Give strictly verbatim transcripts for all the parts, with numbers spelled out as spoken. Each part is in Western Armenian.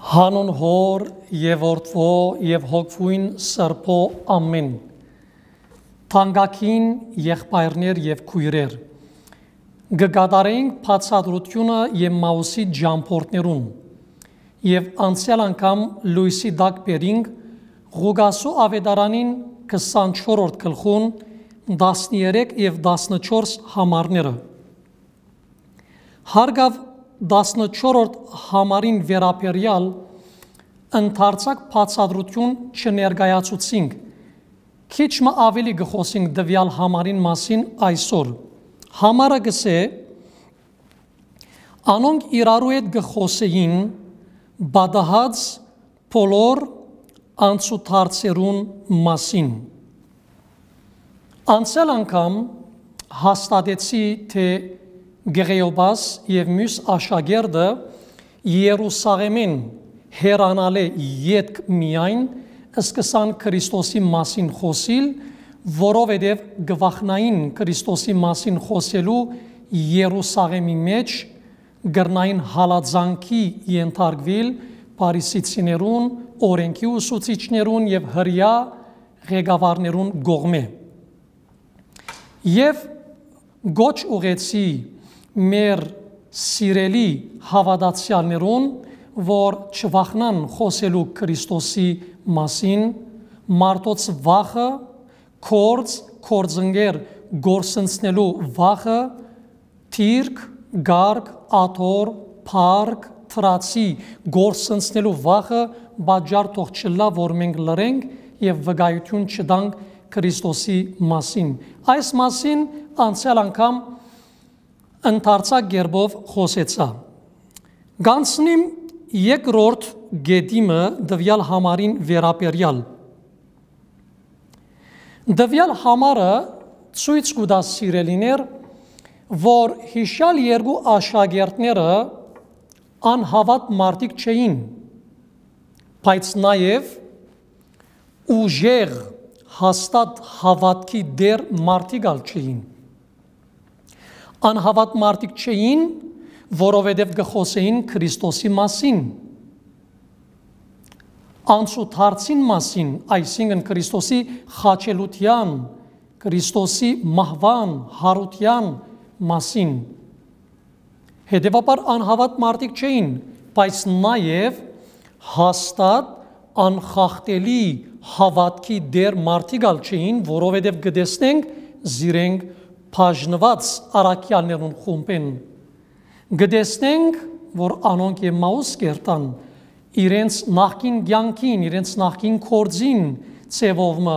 Հանուն Հօր եւ Որդւոյ եւ Հոգւոյն Սրբոյ, ամէն։ Թանկագին եղբայրներ եւ քոյրեր, կը կատարենք բացատրութիւնը Էմմաուսի ճամբորդներուն եւ անցեալ անգամ լոյսի տակ բերինք Ղուկասու աւետարանին քսանչորրորդ գլխուն տասներեք եւ տասնչորս համարները։ Հարգաւ տասնչորրորդ համարին վերաբերեալ ընդարձակ բացատրութիւն չներկայացուցինք, քիչ մը աւելի կը խօսենք տուեալ համարին մասին այսօր։ Համարը կ'ըսէ. «Անոնք իրարու հետ կը խօսէին պատահած բոլոր անցուդարձերուն մասին»։ Անցեալ անգամ հաստատեցի, թէ Կղեոպաս եւ միւս աշակերտը Երուսաղէմէն հեռանալէ ետք միայն սկսան Քրիստոսի մասին խօսիլ, որովհետեւ կը վախնային Քրիստոսի մասին խօսելու Երուսաղէմի մէջ, կրնային հալածանքի ենթարկուիլ փարիսեցիներուն, օրէնքի ուսուցիչներուն եւ հրեայ ղեկավարներուն կողմէ։ Եւ կոչ ուղղեցի մեր սիրելի հաւատացեալներուն, որ չվախնան խօսելու Քրիստոսի մասին, մարդոց վախը, գործ, գործընկեր կորսնցնելու վախը, դիրք, կարգ, աթոռ, փառք, դրացի կորսնցնելու վախը պատճառ թող չըլլայ, որ մենք լռենք եւ վկայութիւն չտանք Քրիստոսի մասին։ Այս մասին անցեալ անգամ ընդարձակ կերպով խօսեցայ։ Կանցնիմ երկրորդ կետի մը տուեալ համարին վերաբերեալ։ Տուեալ համարը ցոյց կու տայ, սիրելիներ, որ յիշեալ երկու աշակերտները անհաւատ մարդիկ չէին, բայց նաեւ ուժեղ, հաստատ հաւատքի տէր մարդիկ ալ չէին։ Անհաւատ մարդիկ չէին, որովհետեւ կը խօսէին Քրիստոսի մասին, անցուդարձին մասին, այսինքն Քրիստոսի խաչելութեան, Քրիստոսի մահուան, յարութեան մասին։ Հետեւաբար անհաւատ մարդիկ չէին, բայց նաեւ հաստատ անխախտելի հաւատքի տէր մարդիկ ալ չէին, որովհետեւ կը տեսնենք զիրենք բաժնուած առաքեալներուն խումբէն։ Կը տեսնենք, որ անոնք Էմմաուս կ'երթան, իրենց նախկին կեանքին, իրենց նախկին գործին ձեւով մը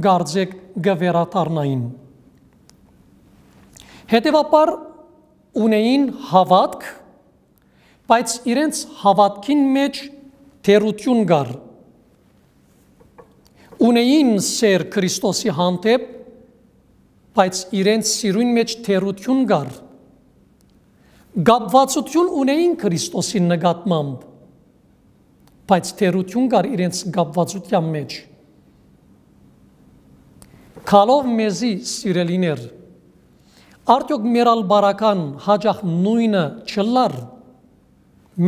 կարծէք կը վերադառնային։ Հետեւաբար ունէին հաւատք, բայց իրենց հաւատքին մէջ թերութիւն կար։ Ունէին սէր Քրիստոսի հանդէպ, բայց իրենց սիրոյն մէջ թերութիւն կար։ Կապուածութիւն ունէին Քրիստոսի նկատմամբ, բայց թերութիւն կար իրենց կապուածութեան մէջ։ Գալով մեզի, սիրելիներ, արդեօք մեր ալ բարական հաճախ նոյնը չըլլար։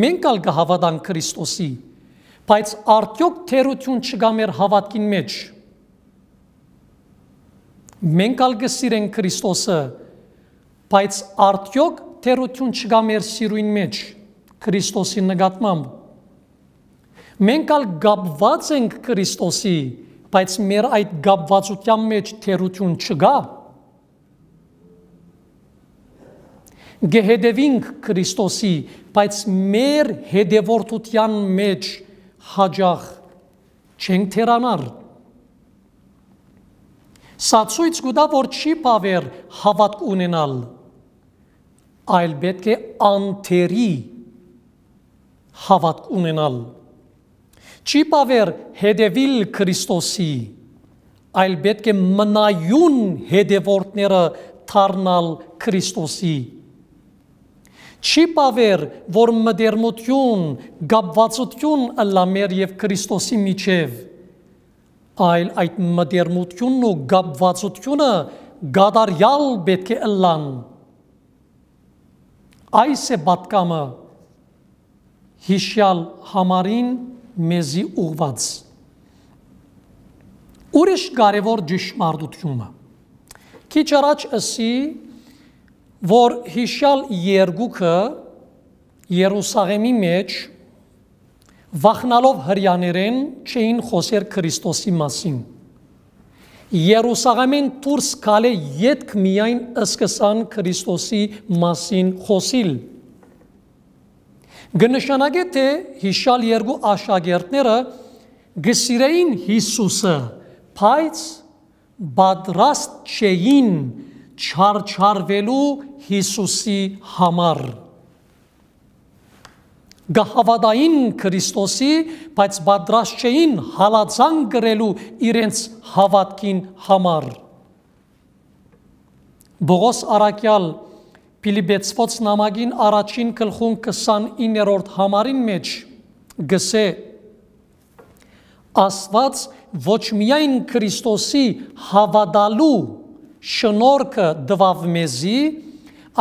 Մենք ալ կը հաւատանք Քրիստոսի, բայց արդեօք թերութիւն չկայ մեր հաւատքին մէջ։ Մենք ալ կը սիրենք Քրիստոսը, բայց արդեօք թերութիւն չկայ մեր սիրոյն մէջ Քրիստոսի նկատմամբ։ Մենք ալ կապուած ենք Քրիստոսի, բայց մեր այդ կապուածութեան մէջ թերութիւն չկայ։ Կը հետեւինք Քրիստոսի, բայց մեր հետեւորդութեան մէջ հաճախ չենք թերանար։ Սա ցոյց կու տայ, որ չի բաւեր հաւատք ունենալ, այլ պէտք է անթերի հաւատք ունենալ։ Չի բաւեր հետեւիլ Քրիստոսի, այլ պէտք է մնայուն հետեւորդները դառնալ Քրիստոսի։ Չի բաւեր, որ մտերմութիւն, կապուածութիւն ըլլայ մեր եւ Քրիստոսի միջեւ, այլ այդ մտերմութիւնն ու կապուածութիւնը կատարեալ պէտք է ըլլան։ Այս է պատկամը, Յիշեալ համարին մեզի ուղղուած։ Ուրիշ կարեւոր ճշմարտութիւնը։ Քիչ առաջ ըսի, որ յիշեալ երկուքը Երուսաղէմի մէջ վախնալով Հրեաներէն չէին խօսեր Քրիստոսի մասին։ Երուսաղէմէն դուրս գալէ ետք միայն սկսան Քրիստոսի մասին խօսիլ։ Կը նշանակէ թէ յիշեալ երկու աշակերտները կը սիրէին Յիսուսը, բայց պատրաստ չէին չարչարուելու Յիսուսի համար։ Կը հաւատային Քրիստոսի, բայց պատրաստ չէին հալածանք կրելու իրենց հաւատքին համար։ Պողոս առաքեալ Փիլիպեցւոց նամակին առաջին գլխուն քսանիններորդ համարին մէջ կ'ըսէ. «Աստուած ոչ միայն Քրիստոսի հաւատալու շնորհքը տուաւ մեզի,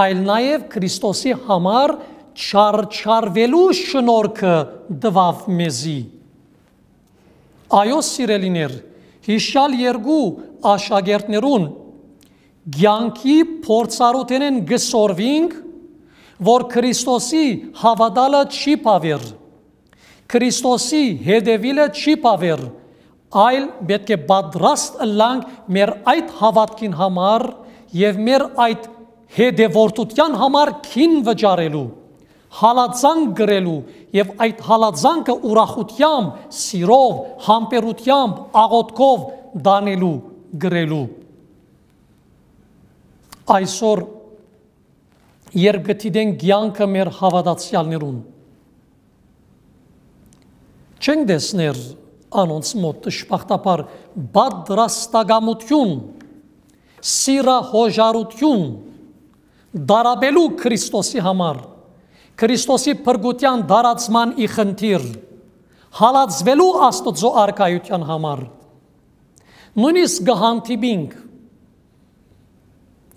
այլ նաեւ Քրիստոսի համար չարչարուելու շնորհքը տուաւ մեզի»։ Այո, սիրելիներ, յիշեալ երկու աշակերտներուն կեանքի փորձառութենէն կը սորվինք, որ Քրիստոսի հաւատալը չի բաւեր, Քրիստոսի հետեւիլը չի բաւեր, այլ պէտք է պատրաստ ըլլանք մեր այդ հաւատքին համար եւ մեր այդ հետեւորդութեան համար քին վճարելու, հալածանք կրելու եւ այդ հալածանքը ուրախութեամբ, սիրով, համբերութեամբ, աղօթքով տանելու, կրելու։ Այսօր, երբ կը դիտենք կեանքը մեր հաւատացեալներուն, չենք տեսներ անոնց մօտ, դժբախտաբար, պատրաստակամութիւն, սիրահոժարութիւն տառապելու Քրիստոսի համար, Քրիստոսի փրկութեան տարածման ի խնդիր, հալածուելու Աստուծոյ արքայութեան համար։ Նոյնիսկ կը հանդիպինք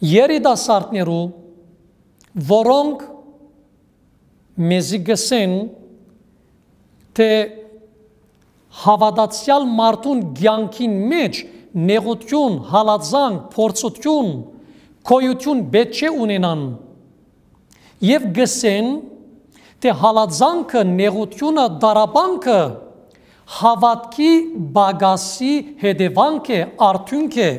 երիտասարդներու, որոնք մեզի կ'ըսեն, թէ հաւատացեալ մարդուն կեանքին մէջ նեղութիւն, հալածանք, փորձութիւն, գոյութիւն պէտք չէ ունենան։ Եւ կ'ըսեն, թէ հալածանքը, նեղութիւնը, տառապանքը հաւատքի պակասի հետեւանք է, արդիւնք է։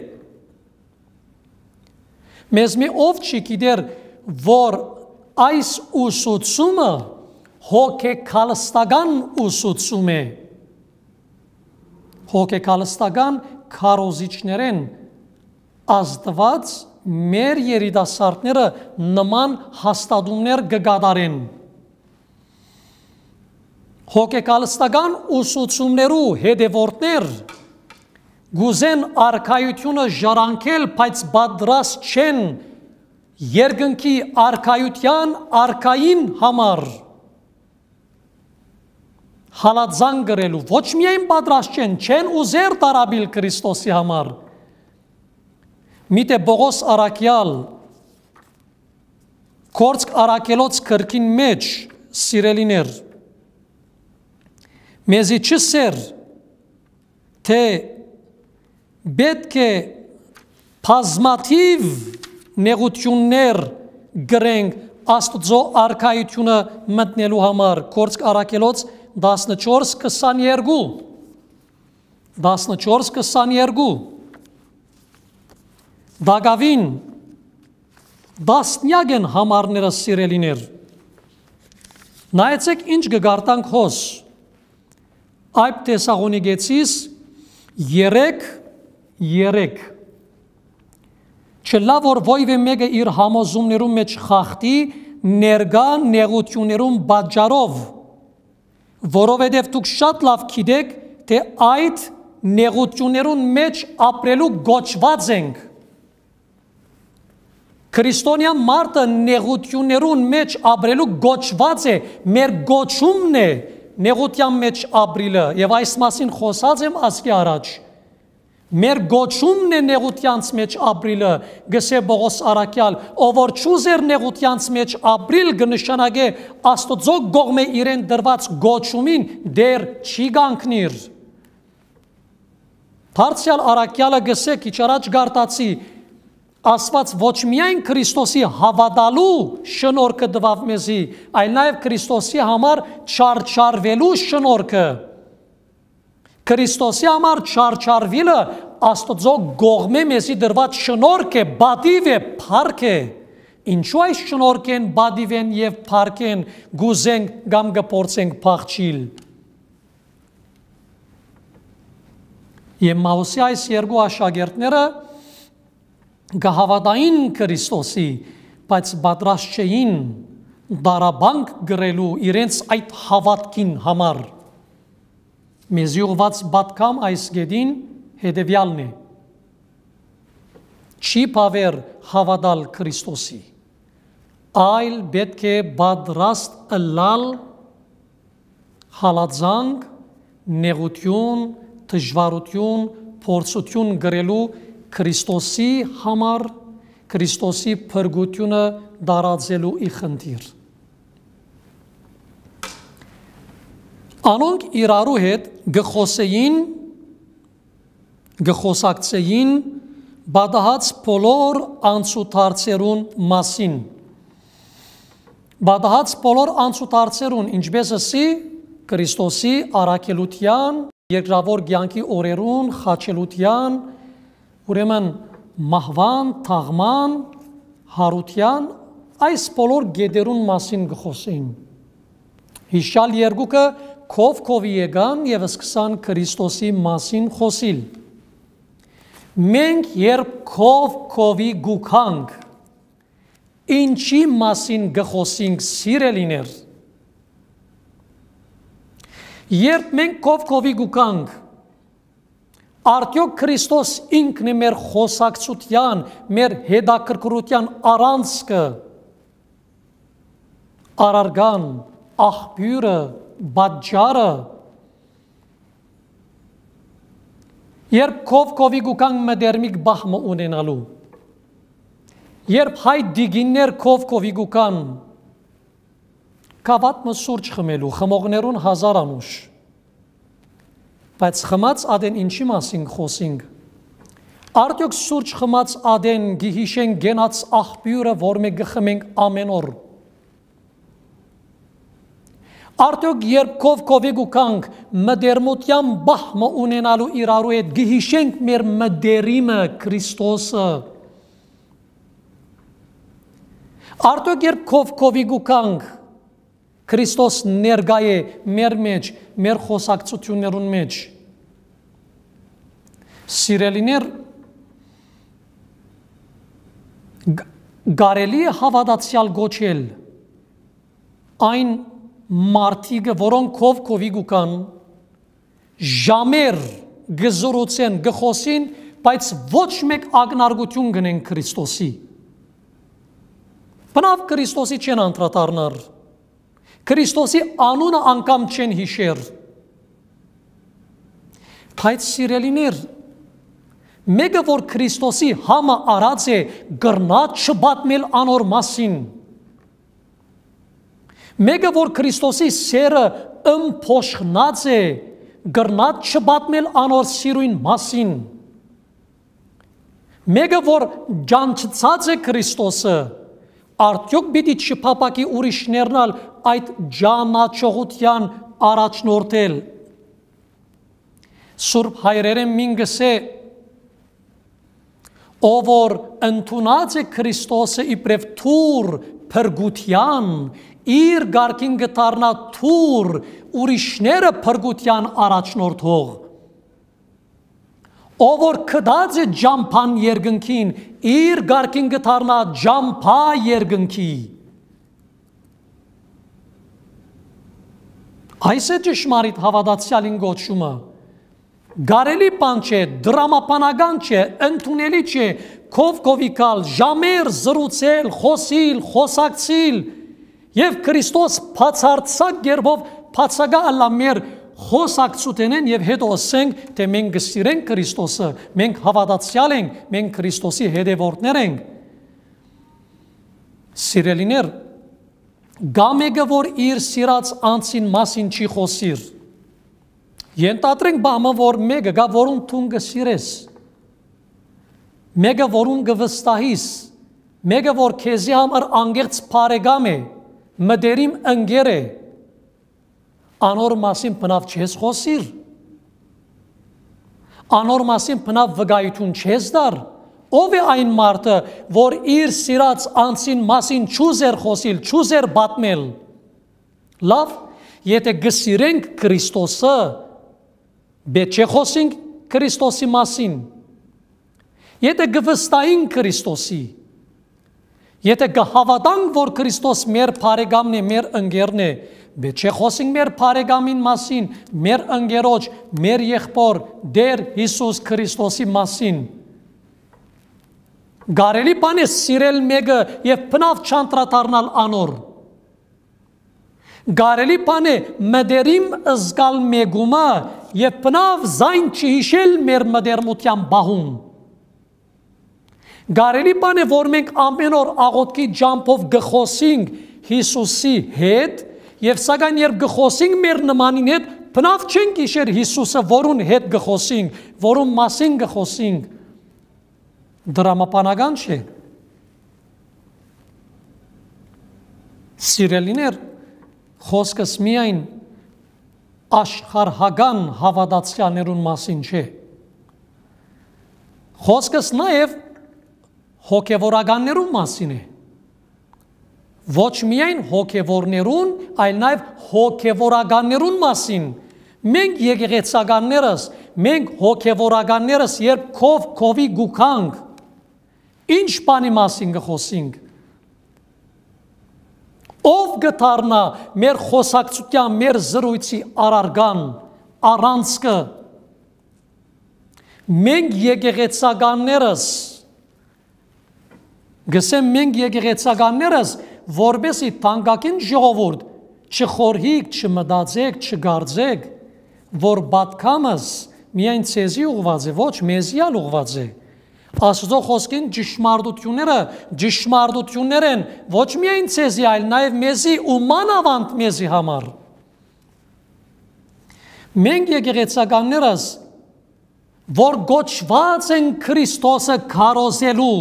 Մեզմէ ով չի գիտեր, որ այս ուսուցումը հոգեկալստական ուսուցում է։ Հոգեկալստական քարոզիչներէն Աստուած մեր երիտասարդները նման հաստատումներ կը կատարեն։ Հոգեկալստական ուսուցումներու հետեւորդներ կ'ուզեն արքայութիւնը ժառանգել, բայց պատրաստ չեն երկնքի արքայութեան արքային համար հալածանք կրելու։ Ոչ միայն պատրաստ չեն, չեն ուզեր տառապիլ Քրիստոսի համար։ Միթէ Պողոս առաքեալ Գործք առաքելոց գրքին մէջ, սիրելիներ, մեզի չըսեր, թէ պէտք է բազմաթիւ նեղութիւններ կրենք Աստուծոյ արքայութիւնը մտնելու համար։ Գործք առաքելոց տասնչորս քսաներկու, տասնչորս քսաներկու, տակաւին տասնեակ են համարները, սիրելիներ։ Նայեցէք ինչ կը կարդանք հոս։ Այդ Թեսաղոնիկեցիս երեք, երեք։ Չլա որ ոյ մէկը իր համոզումներուն մէջ խախտի ներկայ նեղութիւններուն պատճառով, որովհետեւ դուք շատ լաւ գիտէք, թէ այդ նեղութիւններուն մէջ ապրելու կոչուած ենք։ Քրիստոնեայ մարդը նեղութիւններուն մէջ ապրելու կոչուած է, մեր կոչումն է նեղութեան մէջ ապրիլը, եւ այս մասին խօսած եմ ասկէ առաջ։ Մեր կոչումն է նեղութեանց մէջ ապրիլը, կ'ըսէ Պողոս առաքեալ, ով որ չուզեր նեղութեանց մէջ ապրիլ, կը նշանակէ Աստուծոյ կողմէ իրեն տրուած կոչումին դեռ չի կանգնիր։ Դարձեալ առաքեալը կ'ըսէ, քիչ առաջ գարտացի, ասուած, ոչ միայն Քրիստոսի հաւատալու շնորհքը տուաւ մեզի, այլ նաեւ Քրիստոսի համար չարչարուելու շնորհքը։ Քրիստոսի համար չարչարուիլը Աստուծոյ կողմէ մեզի տրուած շնորհք է, պատիւ է, փառք է։ Ինչո՞ւ այս շնորհքէն, պատիւէն եւ փառքէն կ'ուզենք կամ կը փորձենք փախչիլ։ Եմմաուսի այս երկու աշակերտները կը հաւատային Քրիստոսի, բայց պատրաստ չէին դարաբանք կրելու իրենց այդ հաւատքին համար։ Մեզի ուղղուած պատգամ այս կէտին հետեւեալն է. չի բաւեր հաւատալ Քրիստոսի, այլ պէտք է պատրաստ ըլլալ հալածանք, նեղութիւն, դժուարութիւն, փորձութիւն կրելու Քրիստոսի համար, Քրիստոսի փրկութիւնը տարածելու ի խնդիր։ Անոնք իրարու հետ կը խօսէին, կը խօսակցէին պատահած բոլոր անցուդարձերուն մասին։ Պատահած բոլոր անցուդարձերուն, ինչպէս ըսի, Քրիստոսի առաքելութեան, երկրաւոր կեանքի օրերուն, խաչելութեան, ուրեմն մահուան, թաղման, յարութեան, այս բոլոր կետերուն մասին կը խօսէին։ Յիշալ երկուքը քով քովի եկան եւ սկսան Քրիստոսի մասին խօսիլ։ Մենք երբ քով քովի գուքանք, ինչի՞ մասին կը խօսինք, սիրելիներ։ Երբ մենք քով քովի գուքանք, արդյոք Քրիստոս ինքն է մեր խօսակցութեան, մեր հետաքրքրութեան առանցքը, առարկան, աղբիւրը, պատճառը։ Երբ քով քովի գուքանք մտերմիկ պահ մը ունենալու, երբ հայ տիկիններ քով քովի գուքան, գաւաթ մը սուրճ խմելու, խմողներուն հազար անուշ, բայց խմած ատեն ինչի՞ մասին կը խօսինք։ Արդյոք սուրճ խմած ատեն կը յիշենք կենաց աղբիւրը, որ մենք կը խմենք ամէն օր։ Արդյոք երբ քով քովի գուքանք, մտերմութեան պահ մը ունենալու իրարու հետ, կը յիշենք մեր մտերիմը Քրիստոսը։ Արդյոք երբ քով քովի գուքանք, Քրիստոս ներկայ է մեր մէջ, մեր խօսակցութիւններուն մէջ։ Սիրելիներ, գ-, կարելի՞ է հաւատացեալ կոչել այն մարդիկը, որոնք քով քովի գուքան, ժամեր կը զրուցեն, կը խօսին, բայց ոչ մէկ ակնարկութիւն կ'ընեն Քրիստոսի։ Բնաւ Քրիստոսի չեն անդրադառնար։ Քրիստոսի անունը անգամ չեն յիշեր։ Բայց, սիրելիներ, մէկը որ Քրիստոսի համը առած է, կրնա՞ չպատմել անոր մասին։ Մէկը որ Քրիստոսի սերը ըմբոշխնած է, կրնա՞ չպատմել անոր սիրոյն մասին։ Մէկը որ ճանչցած է Քրիստոսը, արդյոք պիտի չփափաքի ուրիշներն ալ այդ ճանաչողութեան առաջնորդել։ Սուրբ հայրերէն մին կ'ըսէ, ով որ ընդունած է Քրիստոսը իբրեւ թուր փրկութեան, իր կարգին կը դառնայ թուր ուրիշները փրկութեան առաջնորդող։ Ով որ գտած է ճամբան երկնքին, իր կարգին կը դառնայ ճամբայ երկնքի։ Այս է ճշմարիտ հաւատացեալին կոչումը։ Կարելի բան չէ, դրամաբանական չէ, ընդունելի չէ, քով քովի գալ, ժամեր զրուցել, խօսիլ, խօսակցիլ, եւ Քրիստոս բացարձակ կերպով բացակայ ըլլայ մեր խօսակցութենէն եւ հետո ըսենք թէ մենք կը սիրենք Քրիստոսը, մենք հաւատացեալ ենք, մենք Քրիստոսի հետեւորդներ ենք։ Սիրելիներ, կա մէկը, որ իր սիրած անձին մասին չի խօսիր։ Ենթադրենք բամը, որ մէկը կայ, որուն դուն կը սիրես, մէկը, որուն կը վստահիս, մէկը, որ քեզի համար անկեղծ բարեկամ է, մտերիմ ընկեր է, անոր մասին բնաւ չես խօսիր, անոր մասին բնաւ վկայութիւն չես տար։ Ո՞վ է այն մարդը, որ իր սիրած անձին մասին չուզեր խօսիլ, չուզեր պատմել։ Լավ, եթէ կը սիրենք Քրիստոսը, պէտք չէ խօսինք Քրիստոսի մասին։ Եթէ կը վստահինք Քրիստոսի, եթէ կը հաւատանք, որ Քրիստոս մեր բարեկամն է, մեր ընկերն է, պէտք չէ խօսինք մեր բարեկամին մասին, մեր ընկերոջ, մեր եղբոր Տէր Յիսուս Քրիստոսի մասին։ Կարելի բան է սիրել մէկը եւ բնաւ չանդրադառնալ անոր։ Կարելի բան է մտերիմ զգալ մէկումը եւ բնաւ զայն չհիշել մեր մտերմութեան պահուն։ Կարելի բան է, որ մենք ամէն օր աղօթքի ճամբով կը խօսենք Յիսուսի հետ, եւ սակայն երբ կը խօսենք մեր նմանին հետ, բնաւ չենք յիշեր Յիսուսը, որուն հետ կը խօսենք, որուն մասին կը խօսենք։ Դրամաբանական չէ։ Սիրելիներ, խօսքս միայն աշխարհական հաւատացեալներուն մասին չէ։ Խօսքս նաեւ հոգեվորականներուն մասին է։ Ոչ միայն հոգեվորներուն, այլ նաեւ հոգեվորականներուն մասին։ Մենք եկեղեցականներս, մենք հոգեվորականներս, երբ քով քովի կու գանք, ինչ բանի մասին կը խօսինք։ Ո՞վ կը դառնայ մեր խօսակցութեան, մեր զրոյցի առարկան, առանցքը։ Մենք եկեղեցականներս, գսեմ մենք եկեղեցականներս, որպեսի թանկագին ժողովուրդ, չխորհիք, չմտածեք, չկարծեք, որ պատգամս միայն ձեզի ուղղված է, ոչ, մեզի ալ ուղղված է։ Աստուծոյ խօսքին ճշմարտութիւնները ճշմարտութիւններ են ոչ միայն ձեզի, այլ նաեւ մեզի ու մանաւանդ մեզի համար։ Մենք եկեղեցականներս, որ կոչուած են Քրիստոսը քարոզելու,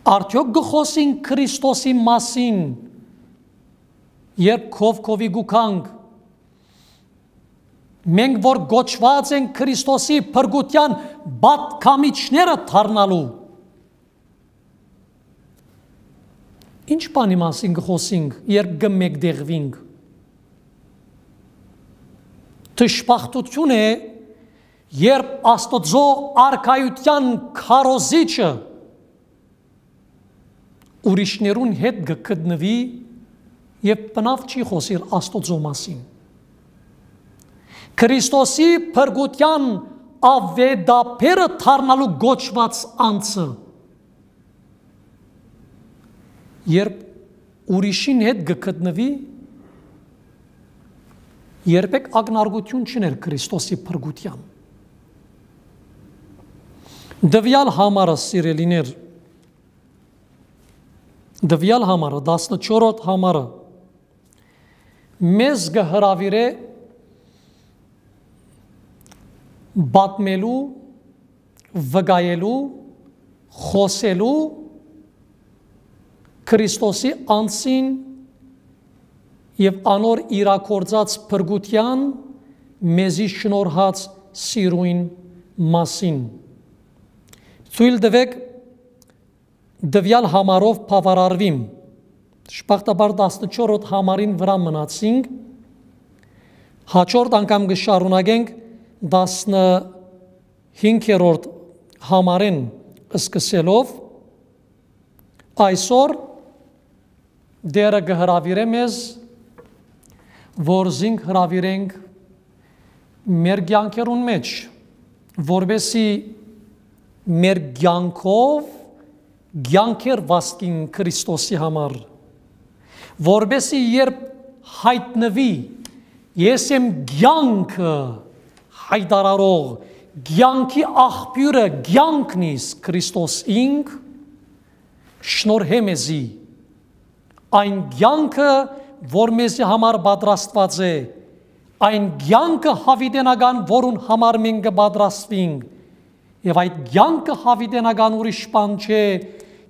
արդեօք կը խօսինք Քրիստոսի մասին, երբ քով քովի կու գանք։ Մենք որ կոչուած ենք Քրիստոսի փրկութեան պատգամիչները դառնալու։ Ինչ բանի մասին կը խօսինք, երբ կը մեկտեղուինք։ Դժբախտութիւն է, երբ Աստուծոյ արքայութեան քարոզիչը ուրիշներուն հետ կը գտնուի եւ բնաւ չի խօսիր Աստուծոյ մասին։ Քրիստոսի փրկութեան աւետաբերը դառնալու կոչուած անձը, երբ ուրիշին հետ կը գտնուի, երբեք ակնարկութիւն չուներ Քրիստոսի փրկութեան։ Տուեալ համարը, սիրելիներ, տուեալ համարը, տասնչորրորդ համարը, մեզ կը հրաւիրէ պատմելու, վկայելու, խօսելու Քրիստոսի անձին եւ անոր իրագործած փրկութեան մեզի շնորհած սիրոյն մասին։ Թոյլ տուէք, տուեալ համարով բաւարարուիմ։ Դժբախտաբար տասնչորրորդ համարին վրայ մնացինք։ Հաջորդ անգամ կը շարունակենք տասնհինգերորդ համարէն սկսելով։ Այսօր Տէրը կը հրաւիրէ մեզ, որ զինք հրաւիրենք մեր կեանքերուն մէջ, որպեսզի մեր կեանքով կեանքեր վաստին Քրիստոսի համար, որպեսզի երբ յայտնուի. «Ես եմ կեանքը յայտարարող, կեանքի աղբիւրը, կեանքն իս Քրիստոս ինք, շնորհէ մեզի այն կեանքը, որ մեզի համար պատրաստուած է, այն կեանքը յաւիտենական, որուն համար մենք կը պատրաստուինք, եւ այդ կեանքը յաւիտենական ուրիշ բան չէ,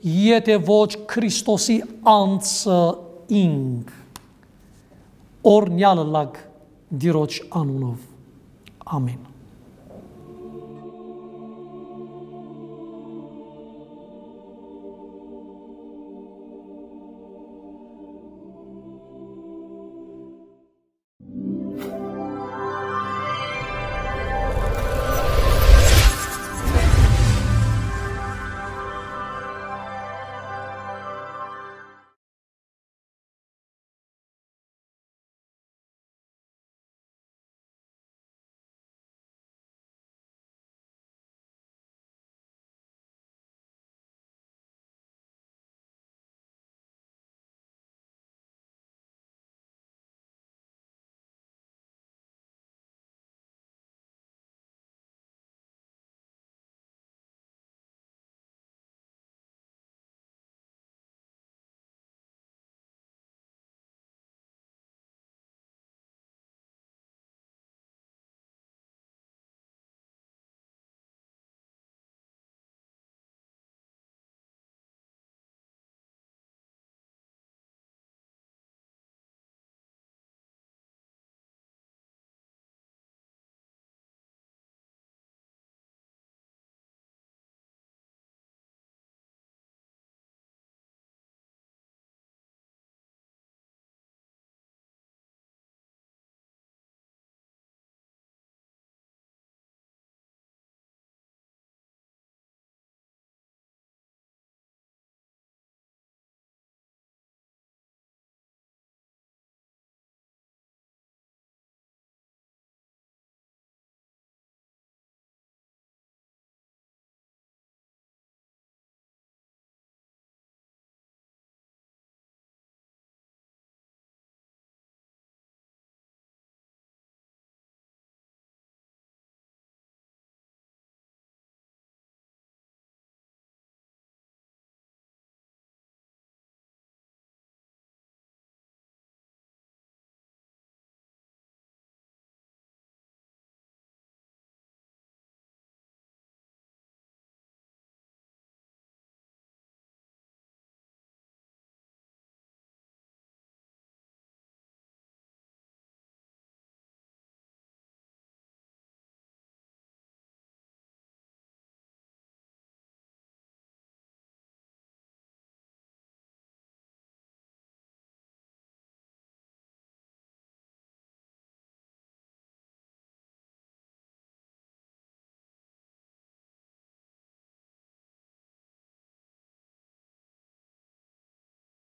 եթէ ոչ Քրիստոսի անձը ինք»։ Օրհնեալ ըլլաք Տիրոջ անունով։ Ամէն։